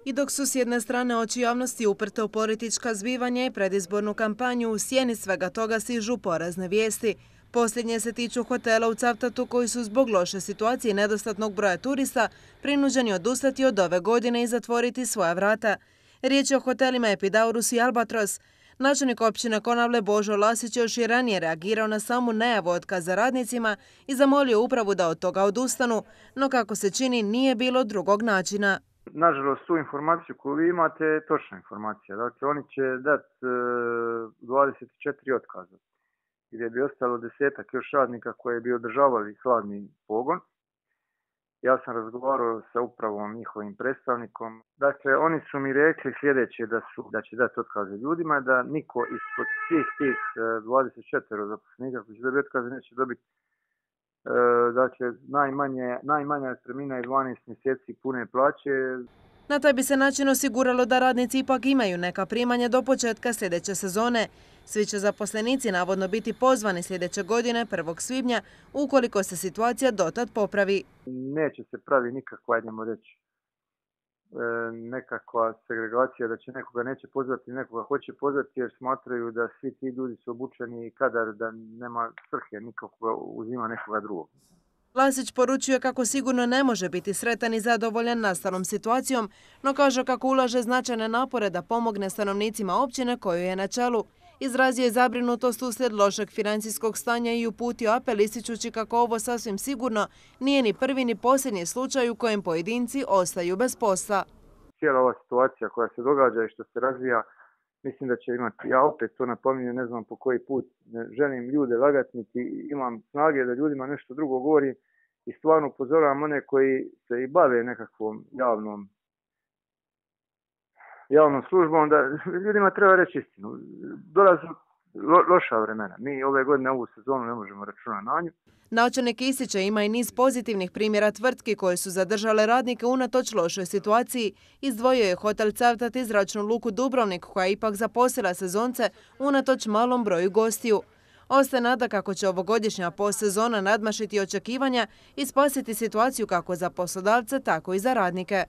I dok su s jedne strane oči javnosti uprte u politička zbivanja i predizbornu kampanju, u sjeni svega toga stižu porazne vijesti. Posljednje se tiču hotela u Cavtatu koji su zbog loše situacije i nedostatnog broja turista prinuđeni odustati od ove godine i zatvoriti svoja vrata. Riječ je o hotelima Epidaurus i Albatros. Načelnik općine Konavle Božo Lasić još i ranije reagirao na samu najavu otkaza radnicima i zamolio upravu da od toga odustanu, no kako se čini nije bilo drugog načina. Nažalost, tu informaciju koju vi imate je točna informacija. Dakle, oni će dati 24 otkaza, gdje bi ostalo 10-ak još radnika koji bi održavali hladni pogon. Ja sam razgovarao sa upravom, njihovim predstavnikom. Dakle, oni su mi rekli sljedeće da će dati otkaze ljudima, da niko ispod svih tih 24 zaposlenika koji će dobiti otkaze neće dobiti najmanja otpremnina je 12 mjeseci pune plaće. Na taj bi se način osiguralo da radnici ipak imaju neka primanja do početka sljedeće sezone. Svi će zaposlenici navodno biti pozvani sljedeće godine 1. svibnja ukoliko se situacija dotad popravi. Neće se pravi nikakva, ajdemo reći, nekakva segregacija da će nekoga neće pozvati, nekoga hoće pozvati jer smatraju da svi ti ljudi su obučeni i kadar da nema svrhe nikoga uzima nekoga drugog. Lasić poručuje kako sigurno ne može biti sretan i zadovoljan nastalom situacijom, no kaže kako ulaže značajne napore da pomogne stanovnicima općine koju je na čelu. Izrazio je zabrinutost uslijed lošeg financijskog stanja i uputio apel ističući kako ovo sasvim sigurno nije ni prvi ni posljednji slučaj u kojem pojedinci ostaju bez posla. Cijela ova situacija koja se događa i što se razvija, mislim da će imati, ja opet to napominjem, ne znam po koji put, ne želim ljude lagati, niti imam snage da ljudima nešto drugo govorim i stvarno upozoravam one koji se i bave nekakvom javnom službom, da ljudima treba reći istinu. Dolaze loša vremena. Mi ove godine ovu sezonu ne možemo računati na nju. Načelnik ističe ima i niz pozitivnih primjera tvrtki koje su zadržale radnike unatoč lošoj situaciji. Izdvojio je hotel Cavtat i zračnu luku Dubrovnik koja je ipak zaposlila sezonce unatoč malom broju gostiju. Ostaje nada kako će ovogodišnja postsezona nadmašiti očekivanja i spasiti situaciju kako za poslodavce, tako i za radnike.